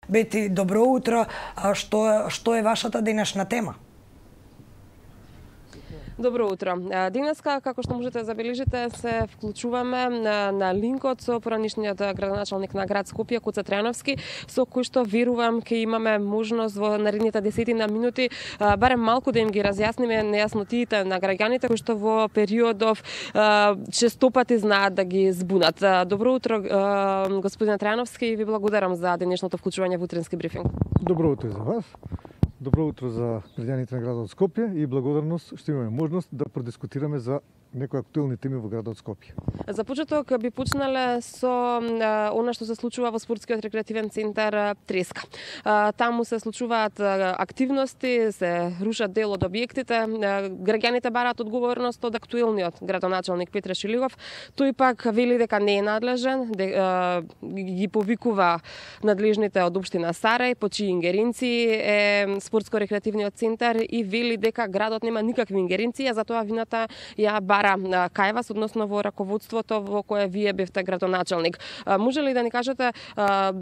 Бети, добро утро. Што е вашата денешна тема? Добро утро. Денеска, како што можете да забележите, се вклучуваме на линкот со поранишниот градоначалник на град Скопје, Гоце Трајановски, со кој што верувам ке имаме можност во наредните 10 минути барем малку да им ги разјасниме нејаснотиите на граѓаните кои што во периодов честопати знаат да ги збунат. Добро утро, господин Трајановски, и ви благодарам за денешното вклучување во утренски брифинг. Добро утро за вас. Добро утро за граѓаните на градот Скопје и благодарност што имаме можност да продискутираме за некои актуелни теми во градот Скопје. За почеток би почнале со она што се случува во спортскиот рекреативен центар Треска. Таму се случуваат активности, се рушат дел од објектите. Граѓаните бараат одговорност од актуелниот градоначалник Петре Шилигов. Тој пак вели дека не е надлежен, ги повикува надлежните од општина Сарај, по чии ингеренции е спортско-рекреативниот центар и вели дека градот нема никакви ингеренции, а затоа вината ја бара кај вас, односно во раководството во кое вие бевте градоначалник. Може ли да ни кажете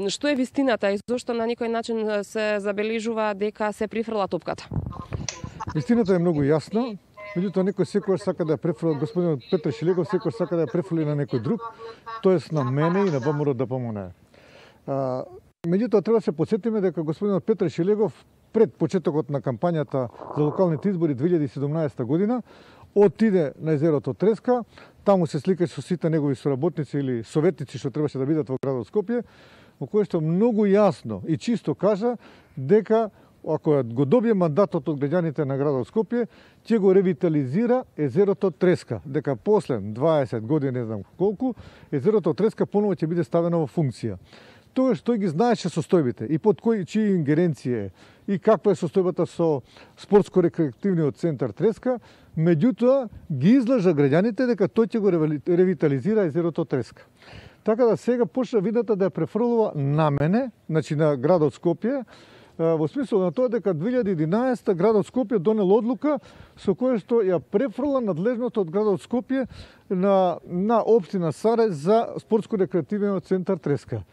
што е вистината и зошто на некој начин се забележува дека се прифрла топката? Вистината е многу јасна. Меѓутоа некој секогаш сака да ја префрли, господинот Петре Шилегов секогаш сака да ја префрли на некој друг, тоест на мене и на ВМРО ДПМН. Меѓутоа треба да се потсетиме дека господинот Петре Шилегов пред почетокот на кампањата за локалните избори 2017 година отиде на езерото Треска, таму се сликаше со сите негови соработници или советници што требаше да бидат во градот Скопје, во кој што многу јасно и чисто кажа дека ако го добие мандатот од граѓаните на градот Скопје, ќе го ревитализира езерото Треска, дека после 20 години, не знам колку, езерото Треска поново ќе биде ставено во функција. Тоа што ги знаеше состојбите и под чии ингеренција е и каква е состојбата со спортско-рекреативниот центар Треска, меѓутоа ги излажа граѓаните дека тој ќе го ревитализира езерото Треска. Така да сега почна видата да ја префрлува на мене, значи на градот Скопје, во смисол на тоа дека 2011 градот Скопје донел одлука со која што ја префрла надлежното од градот Скопје на општина Сарај за спортско-рекреативниот центар Треска.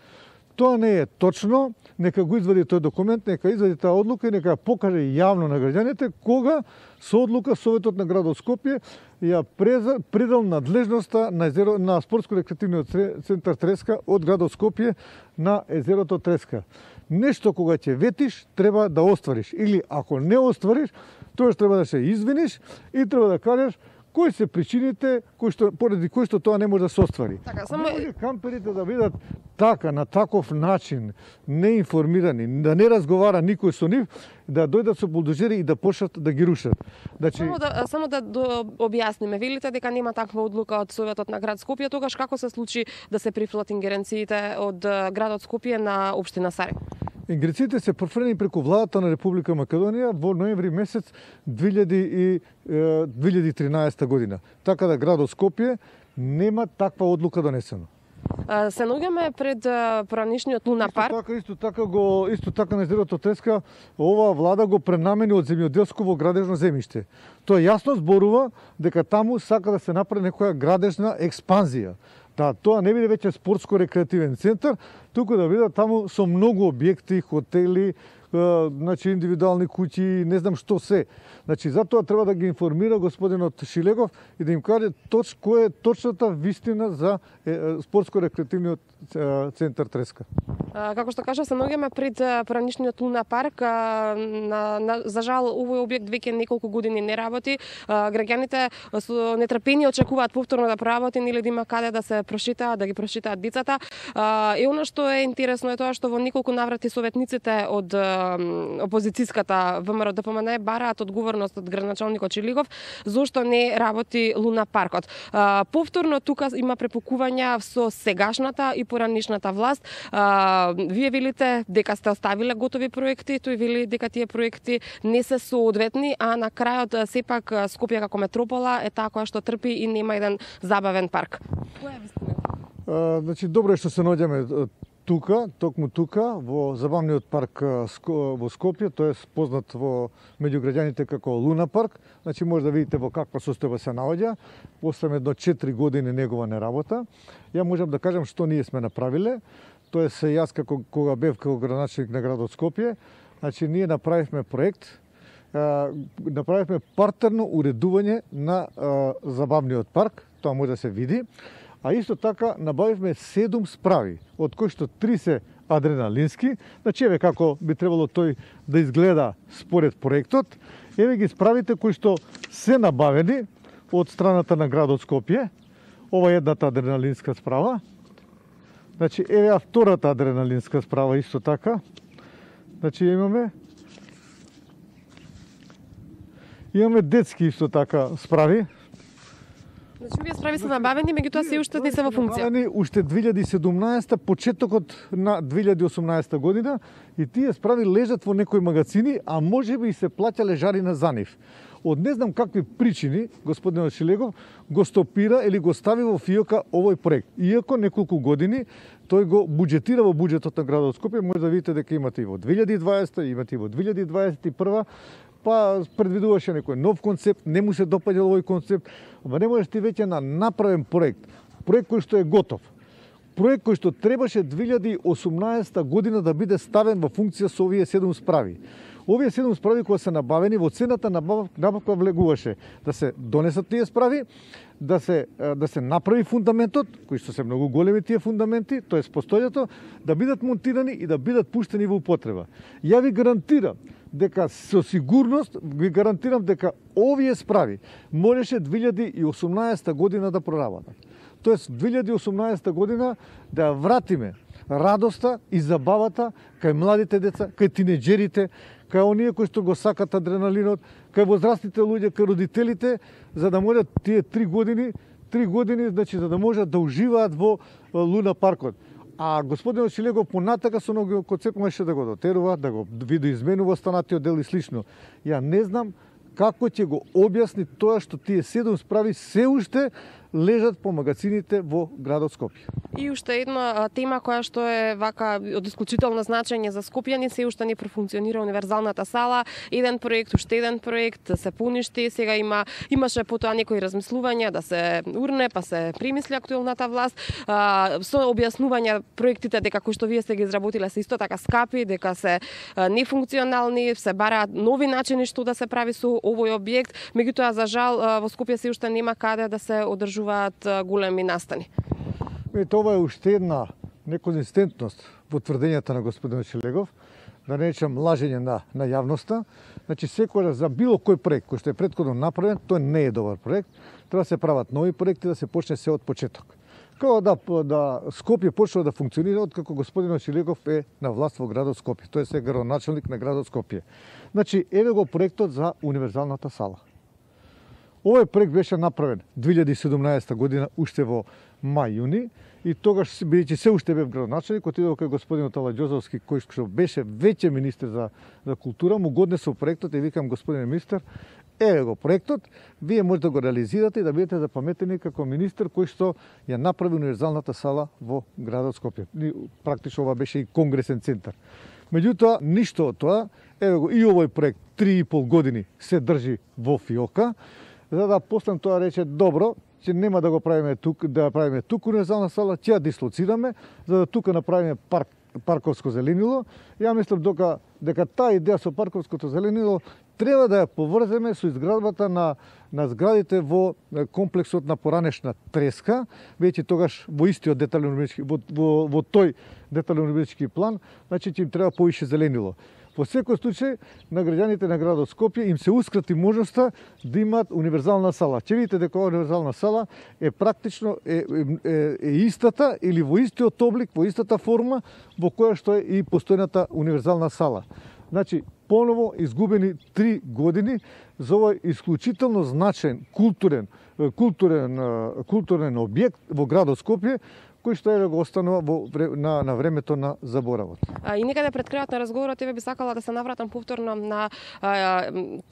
Тоа не е точно, нека го извади тој документ, нека извади таа одлука и нека ја покаже јавно на граѓаните кога со одлука Советот на градот Скопје ја предал надлежноста на спортско-рекреативниот центар Треска од градот Скопје на езерото Треска. Нешто кога ќе ветиш треба да оствариш или ако не оствариш, тоа треба да се извиниш и треба да кажеш кои се причините поради кои што тоа не може да се оствари. Така, може камперите да бидат така, на таков начин, неинформирани, да не разговара никој со нив, да дојдат со булдозери и да почнат да ги рушат. Само да објасниме, велите дека нема таква одлука од Советот на град Скопје, тогаш како се случи да се прифрлат ингеренциите од градот Скопје на општина Сарај? Ингеренциите се префрлени преку владата на Република Македонија во ноември месец 2013 година. Така да градот Скопје нема таква одлука донесена. Се наоѓаме пред поранишниот Луна парк. Исто така на езерото Треска оваа влада го пренамени од земјоделско во градежно земјиште. Тоа јасно зборува дека таму сака да се направи некоја градежна експанзија. Да, тоа не биде веќе спортско-рекреативен центар, туку да биде таму со многу објекти, хотели, значи индивидуални куќи, не знам што се. Значи затоа треба да ги информира господинот Шилегов и да им каже која е точната вистина за спортско-рекреативниот центар Треска. Како што кажа, се наоѓаме пред поранишниот Луна парк. За жал, овој објект веќе неколку години не работи. Граѓаните со нетрпение очекуваат повторно да проработи или да има каде да се прошетаат, да ги прошетаат децата. И она што е интересно е тоа што во неколку наврати советниците од опозицијската ВМРО ДПМН бараат одговорност од градоначалникот Шилигов зошто не работи Луна паркот. Повторно тука има препукувања со сегашната и поранишната власт. Вие велите дека сте оставиле готови проекти, тој вели дека тие проекти не се соодветни, а на крајот сепак Скопје како метропола е таа која што трпи и нема еден забавен парк. Која е вистината? Значи добро е што се наоѓаме токму тука, во забавниот парк во Скопје, тој е познат меѓу граѓаните како Луна парк. Значи може да видите во каква состојба се наоѓа. После едно 4 години негова не работа. Ја можам да кажам што ние сме направиле. тоест јас кога бев како градоначелник на градот Скопје, значи ние направивме проект, направивме партерно уредување на забавниот парк, тоа може да се види, а исто така набавивме 7 справи, од кои што 3 се адреналински, значи еве како би требало тој да изгледа според проектот, еве ги справите кои што се набавени од страната на градот Скопје, ова е едната адреналинска справа, значи еве втората адреналинска справа исто така, значи имаме детски исто така справи. Значи, овие справи се набавени, меѓутоа се уште не се во функција. Набавени уште 2017, почетокот на 2018 година, и тие справи лежат во некои магазини, а можеби и се плаќале жарина за нив. Од не знам какви причини, господинот Шилегов го стопира или го стави во фиока овој проект. Иако неколку години тој го буџетира во буџетот на градот Скопје, може да видите дека имате и во 2020, имате и во 2021, па предвидуваше некој нов концепт, не му се допаѓал овој концепт, ама не можеш ти веќе на направен проект кој што е готов, проект кој што требаше 2018 година да биде ставен во функција со овие 7 справи. Овие 7 справи кои се набавени, во цената набавка влегуваше да се донесат тие справи, да се направи фундаментот, кои што се многу големи тие фундаменти, тоест постојато, да бидат монтирани и да бидат пуштени во употреба. Ја ви гарантирам дека со сигурност ви гарантирам дека овие справи можеше 2018 година да проработат. Тоест 2018 година да ја вратиме радоста и забавата кај младите деца, кај тинеџерите, кај оние кои што го сакат адреналинот, кај возрастните луѓе, кај родителите, за да можат тие 3 години, значи за да можат да уживаат во Луна паркот. А господинот Шилегов понатака со многу концепт можеше да го дотерува, да го видоизменува останатиот дел и слично. Ја не знам како ќе го објасни тоа што тие 7 справи се уште лежат по магазините во градот Скопје. И уште една тема која што е вака од исклучително значење за скопјани, се уште не профункционира универзалната сала. Еден проект, уште еден проект се поништи, сега имаше потоа некои размислувања да се урне, па се примисли актуелната власт, со објаснување проектите дека кои што вие сте ги изработиле се исто така скапи, дека се нефункционални, се бараат нови начини што да се прави со овој објект, меѓутоа за жал во Скопје се уште нема каде да се одржуваат големи настани. Ова е уште една неконзистентност во тврдењата на господин Шилегов, да не речам лажење на јавноста. Значи секогаш за било кој проект кој што е претходно направен, тој не е добар проект, треба да се прават нови проекти, да се почне се од почеток. Како да Скопје почнува да функционира откако господинот Шилегов е на власт во градот Скопје, тој е градоначелник на градот Скопје. Значи еве го проектот за универзалната сала. Овој проект беше направен 2017 година уште во мај-јуни и тогаш бидејќи се уште бев градоначелник, отидов кај господинот Аладјозовски кој што беше веќе министер за култура, му годнесов проектот и викам господине министер, еве го проектот, вие можете да го реализирате и да бидете запаметени како министер кој што ја направи универзалната сала во градот Скопје. Практично ова беше и конгресен центар. Меѓутоа, ништо од тоа, еве го и овој проект 3,5 години се држи во фиока, за да после тоа рече добро, че нема да го правиме тук, да правиме тук универзална сала, ќе ја дислоцираме, за да тука направиме парковско зеленило. Ја мислам дека таа идеја со парковското зеленило треба да ја поврземе со изградбата на зградите во комплексот на поранешна треска, веќе тогаш во истиот детален урбанистички во тој детален урбанистички план, значи ќе им треба повише зеленило. Во секој случај, на граѓаните на градот Скопје им се ускрати можноста да имаат универзална сала. Ќе видите дека оваа универзална сала е практично истата или во истиот облик, во истата форма во која што е и постојната универзална сала. Значи, поново изгубени 3 години за овој исклучително значаен културен објект во градот Скопје, кој што го останува на времето на заборавот. И некаде пред крајот на разговорот еве би сакала да се навратам повторно на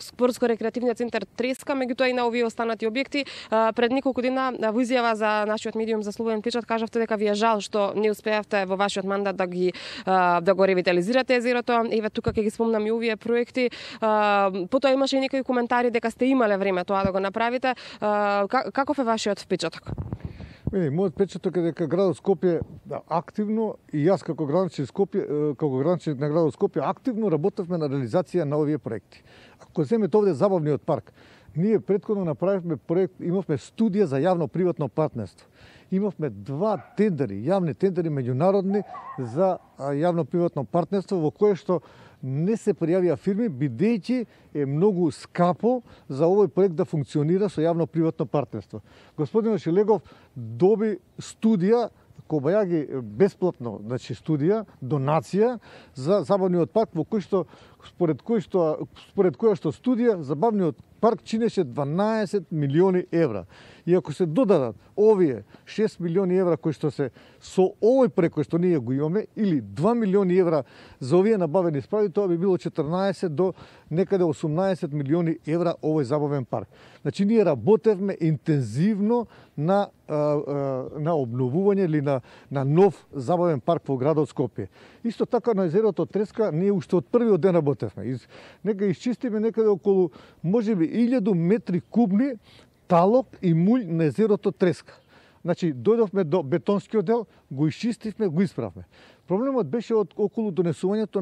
спортско-рекреативниот центар Треска, меѓутоа и на овие останати објекти. Пред неколку дена во изјава за нашиот медиум за Слободен печат кажавте дека ви е жал што не успеавте во вашиот мандат да го ревитализирате езерото. Еве тука ќе ги спомнам и овие проекти. Потоа имаше и некои коментари дека сте имале време тоа да го направите. Каков е вашиот впечаток? Мојот печаток е дека градот Скопје активно и јас како градоначелник на градот Скопје активно работевме на реализација на овие проекти. Ако земете овде забавниот парк, ние претходно направивме проект, имавме студија за јавно-приватно партнерство. Имавме 2 тендери, јавни тендери меѓународни за јавно-приватно партнерство во кое што не се пријавија фирми, бидејќи е многу скапо за овој проект да функционира со јавно-приватно партнерство. Господин Шилегов доби студија, Кобајаги бесплатно, значи студија, донација за забавниот парк во кој што според која што студија забавниот парк чинеше 12 милиони евра. И ако се додадат овие 6 милиони евра кои што се со овој проект кој што ние го имаме или 2 милиони евра за овие набавени справи, тоа би било 14 до некаде 18 милиони евра овој забавен парк. Значи ние работевме интензивно на обновување или на нов забавен парк во градот Скопје. Исто така на езерото Треска ние уште од првиот ден работевме. Нека изчистиме некаде околу можеби 1000 метри кубни талок и муљ на езерото Треска. Значи, дојдовме до бетонскиот дел, го изчистивме, го исправме. Проблемот беше околу донесувањето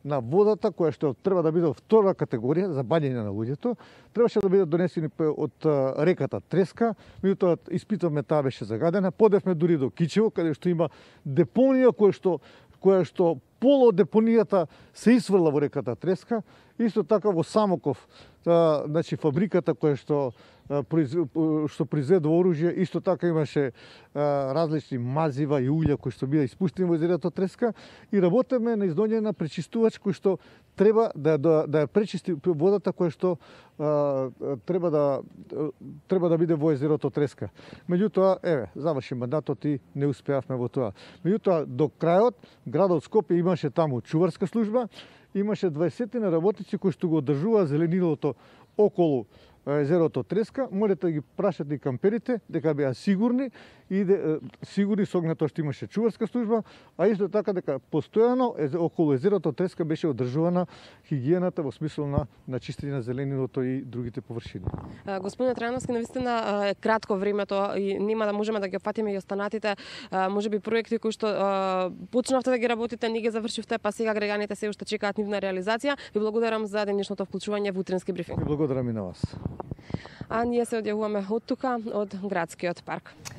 на водата, која што треба да биде од втора категорија за бањење на луѓето, требаше да биде донесени од реката Треска, меѓутоа испитавме, таа беше загадена, подевме дури до Кичево, каде што има депонија која што поло депонијата се исврла во реката Треска, исто така во Самоков, значи фабриката која што произведува оружје, исто така имаше различни мазива и уља кои што бија испуштени во езерото Треска и работеме на издоѓање на пречистувач кој што треба да ја пречисти водата која што треба да биде во езерото Треска. Меѓутоа, заврши мандатот и не успеавме во тоа. Меѓутоа, до крајот, градот Скопје имаше таму чуварска служба, имаше 20 работници кои што го одржуваа зеленилото околу езерото Треска, можете да ги прашате и камперите дека беа сигурни со оглед тоа што имаше чуварска служба, а исто така дека постојано околу езерото Треска беше одржувана хигиената во смисла на чистење на зеленилото и другите површини. Господине Трајановски, навистина е кратко времето и нема да можеме да ги опфатиме и останатите можеби проекти кои што почнавте да ги работите, не ги завршивте, па сега граѓаните се уште чекаат нивна реализација. Ви благодарам за денешното вклучување во утренски брифинг. Ви благодарам и на вас. А ние се одјавуваме од тука, од градскиот парк.